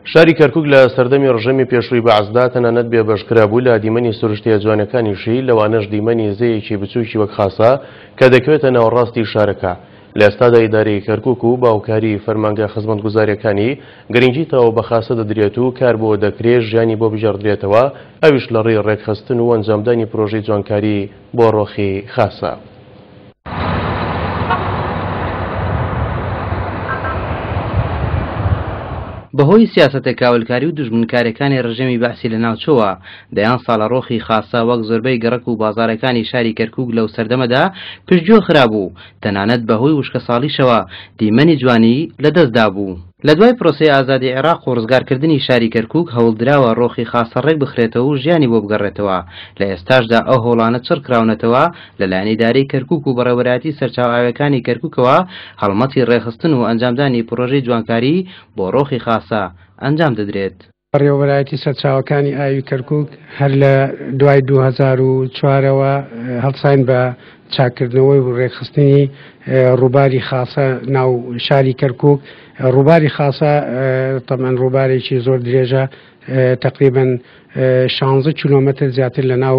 شاری کەرکوک لە سەردەمی ڕژێمی پێشووی بەعسدا تەنانەت بێبەشکرابوو لە دیمەنی سروشتییە جوانەکانیشی، لەوانەش دیمەنی زێیەکی بچووکی وەک خاسە کە دەکەوێتە ناوەڕاستی شارەکە. لە ئێستادا ئیدارەی کەرکوک و بە هاوکاری فەرمانگە خزمەتگوزارییەکانی گرنگی تەواو بە خاسە دەدرێت و کار بۆ دەکرێ ژیانی بۆ بگێڕدرێتەوە، ئەویش لە ڕێی ڕێکخستن و ئەنجامدانی پرۆژەی جوانکاری بۆ ڕۆخی خاسە. بەهۆی سیاسەتە کاولکاری و دوژمنکاریەکانی ڕژێمی بەعسی لەناوچووە، دەیان ساڵە ڕۆخی خاسە وەک زۆربەی گەڕەک و بازاڕەکانی شاری کەرکوک لەو سەردەمەدا پشتگوێ خرابوو، تەنانەت بەهۆی وشکەساڵیشەوە دیمەنی جوانی لەدەستدابوو. لە دوای پرۆسەی ئازادی عێراق و ڕزگارکردنی شاری کەرکوک هەوڵدراوە ڕۆخی خاسە ڕێکبخرێتەوە و ژیانی بۆ بگەڕێتەوە، لە ئێستاشدا ئەو هەوڵانە چڕکراونەتەوە لەلایەن ئیدارەی کەرکوک و بەڕێوەبەرایەتی سەرچاوە ئاویەکانی کەرکوکەوە هەڵمەتی ڕێکخستن و ئەنجامدانی پڕۆژەی جوانکاری بۆ ڕۆخی خاسە ئەنجام دەدرێت. بەڕێوەبەرایەتی سەرچاوەکانی ئاوی کەرکوک هەر لە دوای 2004 ەوە هەڵساین بە چاککردنەوەی و ڕێکخستنی ڕووباری خاسە ناو شاری کەرکوک. ڕووباری خاسە تەبعەن ڕووبارێکی زۆر درێژە، تەقریبەن شانزە کیلۆمەتر زیاتر لە ناو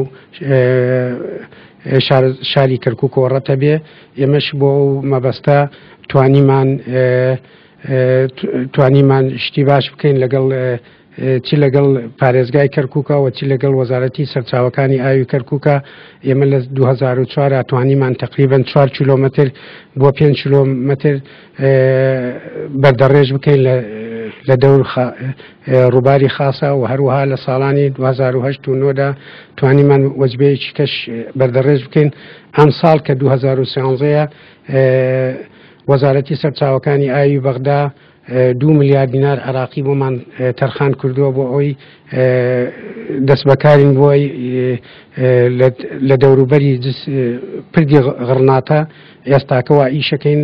شاری کەرکوکەوە ڕەتە بێ. ئێمەش بۆ ئەو مەبەستە توانیمان توانیمان شتی باش بکەین لەگەڵ چ لەگەڵ پارێزگای کەرکووکە و چ لەگەڵ وەزارەتی سەرچاوەکانی ئاوی کەرکووکە. ئێمە لە 2004 توانیمان تقریبا 4 کیلۆمەتر بۆ 5 کیلۆمەتر بەردەڕێژ بکەین لە دەور ڕووباری خاسە و هەروەها لە ساڵانی 2008 و 9دا توانیمان وەجبەیەکی کەش بەردەڕێژ بکەین. ئەم ساڵ کە 2013 وەزارەتی سەرچاوەکانی ئاوی بەغدا 2 ملیار دینار عراقی بۆمان تەرخان کردووە بۆ ئەوەی دەستبەکارین بۆی لە دەوروبەری پردی غڕناتە ئێستاکە وا ئیشەکەین.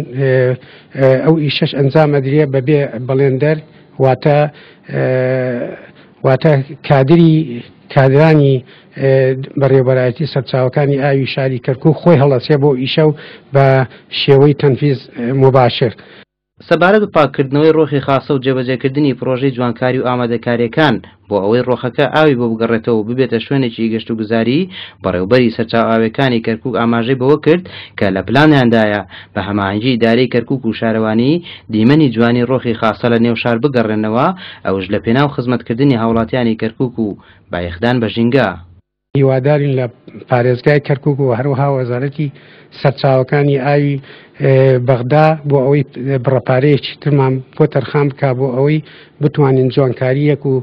ئەو ئیشەش ئەنجام ئەدرێ بەبێ بەڵێندەر، واتە واتە کادری کادرانی بەڕێوەبەرایەتی سەرچاوەکانی ئاوی شاری کەرکوک خۆی هەڵەسێ بۆ ئیشە و بە شێوەی تەنفیز مباشر. سەبارەت بە پاککردنەوەی ڕۆخی خاسە و جێبەجێکردنی پڕۆژەی جوانکاری و ئامادەکارییەکان بۆ ئەوەی ڕۆخەکە ئاوی بۆ بگەڕێتەوە و ببێتە شوێنێکی گەشتوگوزاری، بەڕێوبەری سەرچاوە ئاوییەکانی کەرکوک ئاماژەی بەوە کرد کە لە پلانیاندایە بە هەماهەنگی ئیدارەی کەرکوک و شارەوانی دیمەنی جوانی ڕۆخی خاسە لە نێو شار بگەڕێننەوە، ئەوش لە پێناو خزمەتکردنی هاوڵاتیانی کەرکوک و بایەخدان بە ژینگە. هیوادارین لە پارێزگای کەرکوک و هەروەها وەزارەتی سەرچاوەکانی ئاوی بەغدا بۆ ئەوەی بڕەپارەیەکی ترمان بۆ تەرخان بک بۆ ئەوەی بتوانین جوانکاریەک و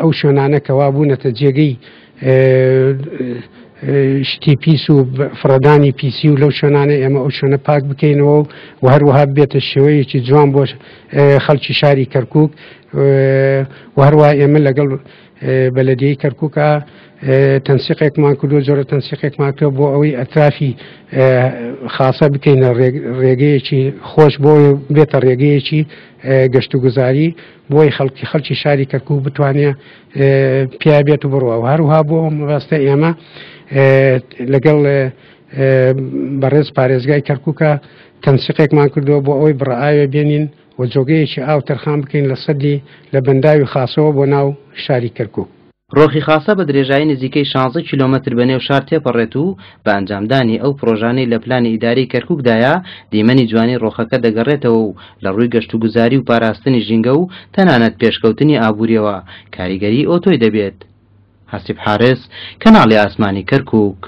ئەو شوێنانە کەوا بوونەتە جێگەی شتی پیس و فڕەدانی پیسی و لەو شوێنانە ئێمە ئەو شوێنە پاک بکەینەوە و هەروەها بێتە شێوەیەکی جوان بۆ خەڵکی شاری کەرکک و هەروە ئێمە لەگەڵ بەلەدیەی کەرکوکە تەنسیقێکمان کردو جۆرە تەنسیقێکمان کرد بۆ ئەوەی ئەترافی خاصە بکەینە ڕێگەیەکی خۆش بۆ بێتە ڕێگەیەکی گەشتوگوزاری بۆی خەڵکی خەڵکی شاری کەرکوک بتوانێت پیا بێت و بڕوە و هەروها بۆ مەبەستە ئێمە لەگەڵ بەڕێز پارێزگای کەرکووکە تەنسیقێکمان کردووە بۆ ئەوەی بڕئاوێ بێنین و جۆگەیەکی ئاو تەرخان بکەین لە سەدی لە بەنداوی خاسەوە بۆ ناو شاری کەرکوک. ڕۆخی خاسە بە درێژایی نزیکەی شانزە کیلۆمەتر بە نێو شار تێپەڕێت و بە ئەنجامدانی ئەو پڕۆژانەی لە پلانی ئیدارەی کەرکوکدایە، دیمەنی جوانی ڕۆخەکە دەگەڕێتەوە و لە ڕووی گەشتوگوزاری و پاراستنی ژینگە و تەنانەت پێشکەوتنی ئابوورییەوە کاریگەریی ئەوتۆی دەبێت. حەسیب حارس، کەناڵی ئاسمانی کەرکوک.